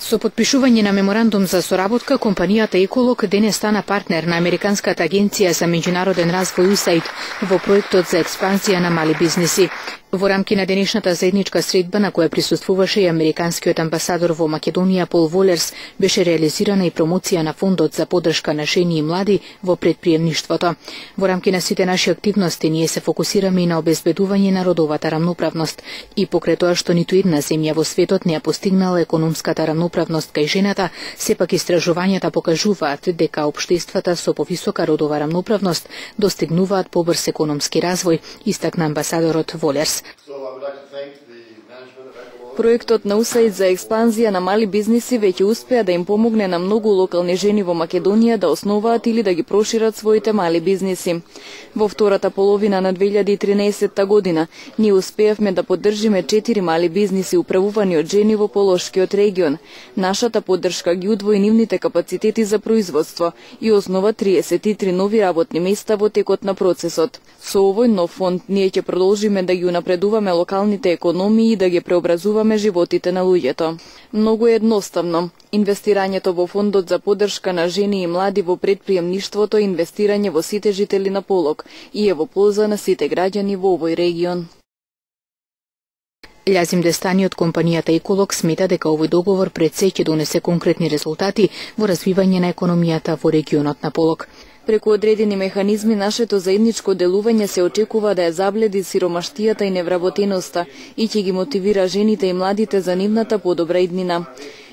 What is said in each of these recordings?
Со подпишување на меморандум за соработка, компанијата Еколог денес стана партнер на Американската агенција за меѓународен развој USAID во проектот за експанзија на мали бизниси. Во рамки на денешната заедничка средба на која присуствуваше и американскиот амбасадор во Македонија Пол Волерс, беше реализирана и промоција на фондот за поддршка на жени и млади во предприемништвото. Во рамки на сите наши активности ние се фокусираме и на обезбедување на родовата рамноправност и покрај тоа што ниту една земја во светот не ја постигнала економската рамноправност кај жената, сепак истражувањата покажуваат дека општествата со повисока родова рамноправност достигнуваат побрз економски развој, истакна амбасадорот Волерс. Проектот на USAID за експанзија на мали бизниси веќе успеа да им помогне на многу локални жени во Македонија да основаат или да ги прошират своите мали бизниси. Во втората половина на 2013 година ние успеавме да поддржиме 4 мали бизниси управувани од жени во Полошкиот регион. Нашата поддршка ги удвои нивните капацитети за производство и основа 33 нови работни места во текот на процесот. Со овој нов фонд ние ќе продолжиме да ги унапредуваме локалните економии и да ги преобразуваме животите на луѓето. Многу е едноставно. Инвестирањето во фондот за поддршка на жени и млади во предприемништвото е инвестирање во сите жители на Полог и е во полза на сите граѓани во овој регион. Лјазим Дестани од компанијата Еколог смета дека овој договор пред се ќе донесе конкретни резултати во развивање на економијата во регионот на Полог. Преку одредени механизми нашето заедничко делување се очекува да ја забледи сиромаштијата и невработеноста и ќе ги мотивира жените и младите за нивната подобра иднина.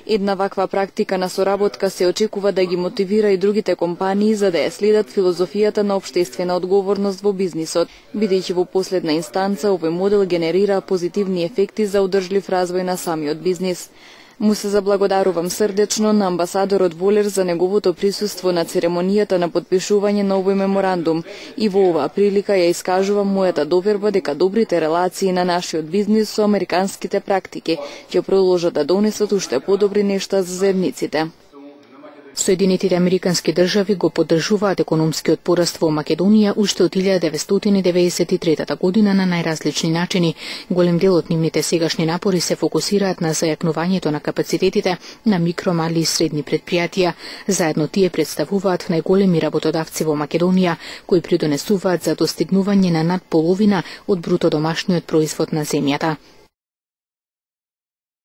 Една ваква практика на соработка се очекува да ги мотивира и другите компании за да ја следат филозофијата на општествена одговорност во бизнисот, бидејќи во последна инстанца овој модел генерира позитивни ефекти за одржлив развој на самиот бизнис. Му се заблагодарувам срдечно на амбасадорот Волер за неговото присуство на церемонијата на подпишување на овој меморандум и во оваа прилика ја искажувам мојата доверба дека добрите релации на нашиот бизнис со американските практики ќе продолжат да донесат уште подобри нешта за заедниците. Соединетите американски држави го поддржуваат економскиот пораст во Македонија уште од 1993 година на најразлични начини. Голем дел од нивните сегашни напори се фокусираат на зајакнувањето на капацитетите на микро, мали и средни предпријатија. Заедно тие представуваат најголеми работодавци во Македонија, кои придонесуваат за достигнување на над половина од бруто домашниот производ на земјата.